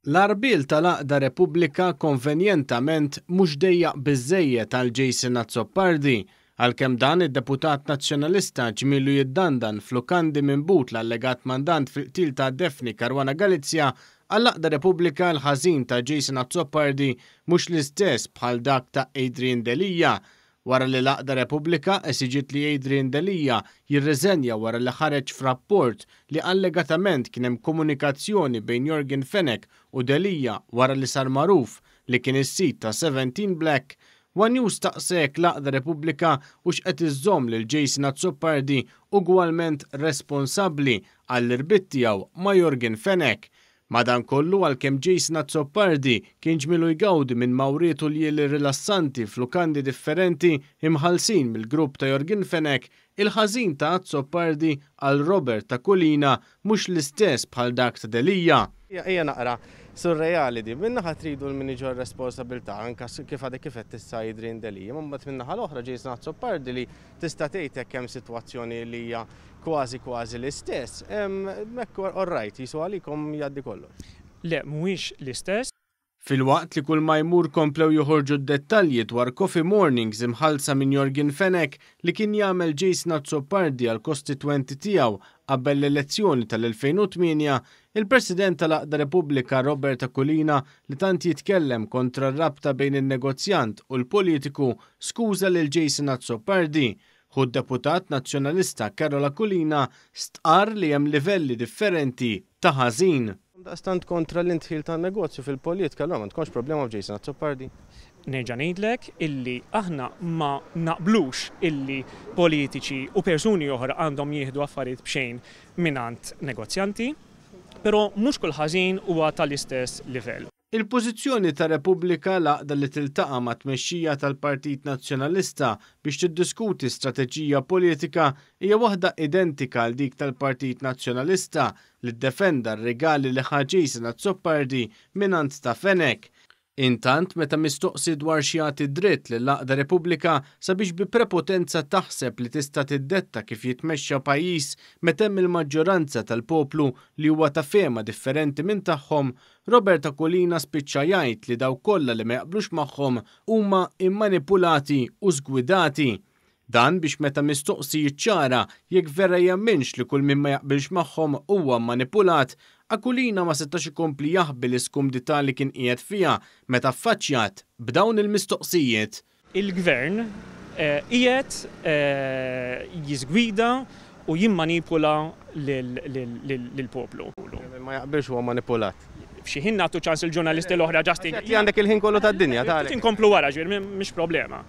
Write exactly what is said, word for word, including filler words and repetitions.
L-għarbiel tal-Għaqda Repubblika konvenjentament mhux dejjaq biżżejjed għal Jason Azzopardi, għalkemm dan id-deputat Nazzjonalista ġmielu jiddandan f'lukandi minn but l-allegat mandant fil-qtil ta' Daphne Caruana Galizia, għall-Għaqda Repubblika l-ħażin ta' Jason Azzopardi mhux l-istess bħal dak ta' Adrian Delia. Wara li l-Għaqda Repubblika esiġiet li Adrian Delia jirriżenja wara li ħareġ f'rapport li allegatament kien hemm komunikazzjoni bejn Yorgen Fenech u Delia wara li sar magħruf li kien is-sid ta' seventeen Black, One News staqsa jekk l-Għaqda Repubblika u x'qed iżżomm lil Jason Azzopardi ugwalment responsabbli għall-irbit tiegħu ma' Yorgen Fenech. Madankollu, għalkemm Jason Azzopardi kien ġmielu jgawdi minn mawriet u ljieli rilassanti f'lukandi differenti imħallsin mill-grupp ta' Yorgen Fenech, il-ħażin ta' Azzopardi għal Robert Aquilina mhux l-istess bħal dak ta' Delia. Hija naqra surreali di, min-naħa tridu l-min iġorr responsabilità, anka kif għadek kif qed tista' Adrian Delia, ma mbagħad min-naħa l-oħra Jason Azzopardi li tista' tgħid hekk hemm sitwazzjoni li hija kważi kważi l-istess, hekk all right, jisu għalikom jgħaddi kollox. Le, mhuwiex l-istess. Filwaqt li kull ma jmur komplew joħorġu d-dettalji dwar coffee mornings imħallsa minn Yorgen Fenech li kien jagħmel Jason Azzopardi għal kostitwenti tiegħu qabel l-elezzjoni tal-elfejn u tmienja, il-President tal-Għaqda Repubblika Robert Aquilina, li tant jitkellem kontra r-rabta bejn in-negozjant u l-politiku, skuża lil Jason Azzopardi. Hu d-deputat nazzjonalista Karol Aquilina stqarr li hemm livelli differenti ta' ħażin. Daqstant kontra l-indħil tan-negozju fil-politika, allura ma tkunx problema f'Jason Azzopardi? Nerġa' ngħidlek illi aħna ma naqblux illi politiċi u persuni oħra għandhom jieħdu affarijiet b'xejn mingħand negozjanti, però mhux kull ħażin huwa tal-istess livell. Il-pożizzjoni ta' Repubblika, l-għaqda li tiltaqa' ma' tmexxija tal-Partit Nazzjonalista biex tiddiskuti strateġija politika, hija waħda identika għal dik tal-Partit Nazzjonalista li ddefenda r-regali li ħa Jason Azzopardi mingħand ta' Fenech. Intant, meta mistoqsi dwar xi jagħti dritt lill-Għaqda Repubblika sabiex bi prepotenza taħseb li tista' tiddetta kif jitmexxa pajjiż meta hemm il-maġġoranza tal-poplu li huwa ta' fehma differenti minn tagħhom, Robert Aquilina spiċċa jgħid li dawk kollha li ma jaqblux magħhom huma immanipulati u żgwidati. Dan biex meta mistoqsi jiċċara jekk vera jemminx li kull min ma jaqbilx magħhom huwa manipulat, Aquilina ma setax ikompli jaħbi l-iskumdità li kien qiegħed fiha meta affaċċjat b'dawn il-mistoqsijiet. Il-gvern, eh, qiegħed, eh, jiżgwida u jimmanipula lill-poplu. Ma jaqbilx huwa manipulat. F'xi ħin nagħtu ċans il-ġurnalisti l-oħra ġasti. Li għandek il-ħin kollu tad-dinja, tara. Inkomplu wara, ġifieri mhix problema.